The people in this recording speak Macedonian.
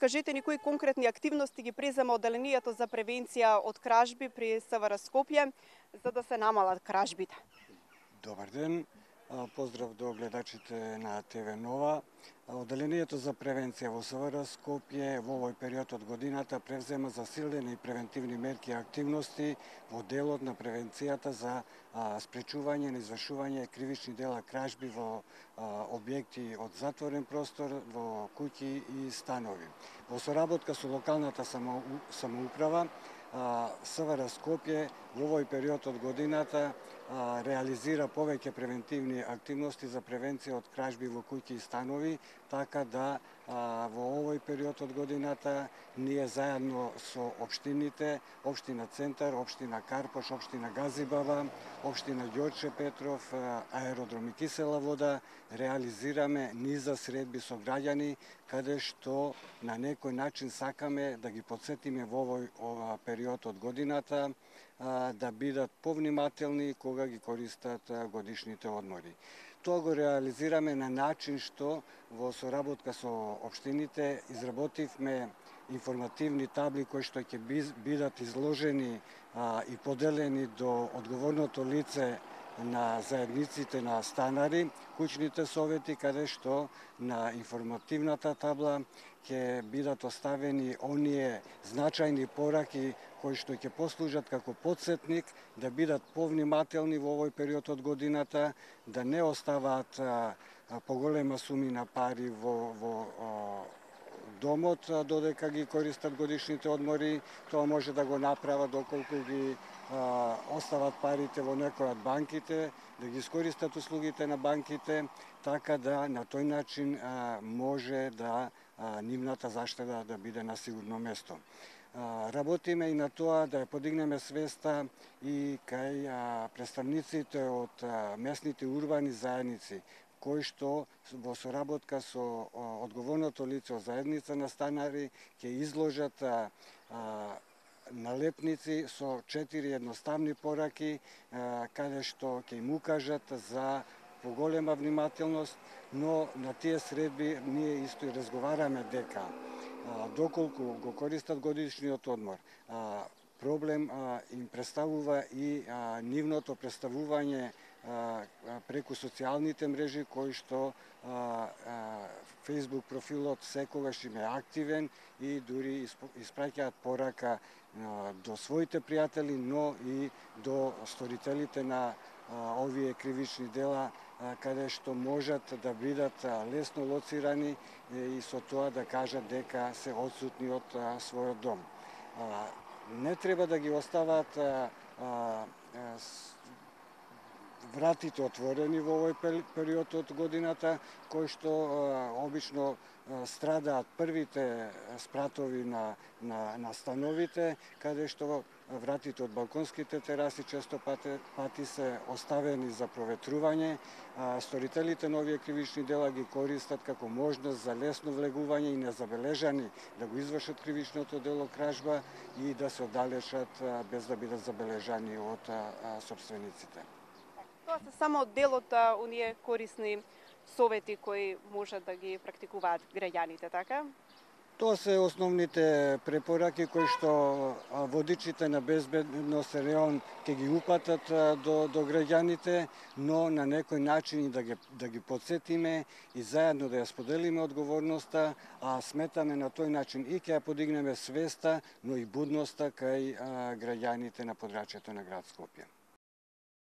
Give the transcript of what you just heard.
кажете ни кои конкретни активности ги презема одделението за превенција од кражби при СВР Скопје за да се намалат кражбите. Добар ден. Поздрав до гледачите на ТВ Нова. Одделението за превенција во СВР Скопје во овој период од годината превзема засилени превентивни мерки и активности во делот на превенцијата за спречување на извршување кривични дела кражби во објекти од затворен простор, во куќи и станови. Во соработка со локалната самоуправа, СВР Скопје во овој период од годината реализира повеќе превентивни активности за превенција од кражби во куќи и станови, така да во овој период од годината ние заедно со општините, општина Центар, општина Карпош, општина Газибаба, општина Ѓорче Петров, аеродром и кисела вода, реализираме низа средби со граѓани, каде што на некој начин сакаме да ги потсетиме во овој период од годината да бидат повнимателни кога ги користат годишните одмори. Тоа го реализираме на начин што во соработка со општините изработивме информативни табли кои што ќе бидат изложени и поделени до одговорното лице на заедниците на станари, куќните совети, каде што на информативната табла ќе бидат оставени оние значајни пораки кои што ќе послужат како потсетник да бидат повнимателни во овој период од годината, да не оставаат поголема суми на пари во домот додека ги користат годишните одмори. Тоа може да го направат доколку ги остават парите во некоја од банките, да ги искористат услугите на банките, така да на тој начин може да нивната заштеда да биде на сигурно место. Работиме и на тоа да ја подигнеме свеста и кај представниците од местните урбани заедници, кои што во соработка со одговорното лице од заедница на станари ќе изложат налепници со 4 едноставни пораки, каде што ќе им укажат за поголема внимателност, но на тие средби ние исто и разговараме дека доколку го користат годишниот одмор, проблем им представува и нивното представување преку социјалните мрежи, кои што Facebook профилот секогаш им е активен и дури испраќаат порака до своите пријатели, но и до сторителите на овие кривични дела, каде што можат да бидат лесно лоцирани и со тоа да кажат дека се одсутни од својот дом. Не треба да ги остават вратите отворени во овој период од годината, кои што обично страдаат првите спратови на становите, каде што вратите од балконските тераси често пати се оставени за проветрување. Сторителите на овие кривични дела ги користат како можност за лесно влегување и незабележани да го извршат кривичното дело кражба и да се оддалечат без да бидат забележани од сопствениците. Тоа се само дел од оние корисни совети кои можат да ги практикуваат граѓаните, така? Тоа се основните препораки кои што водичите на безбедност район ќе ги упатат до граѓаните, но на некој начин и да ги потсетиме и заедно да ја споделиме одговорноста, а сметаме на тој начин и ќе ја подигнеме свеста, но и будноста кај граѓаните на подрачјето на град Скопје.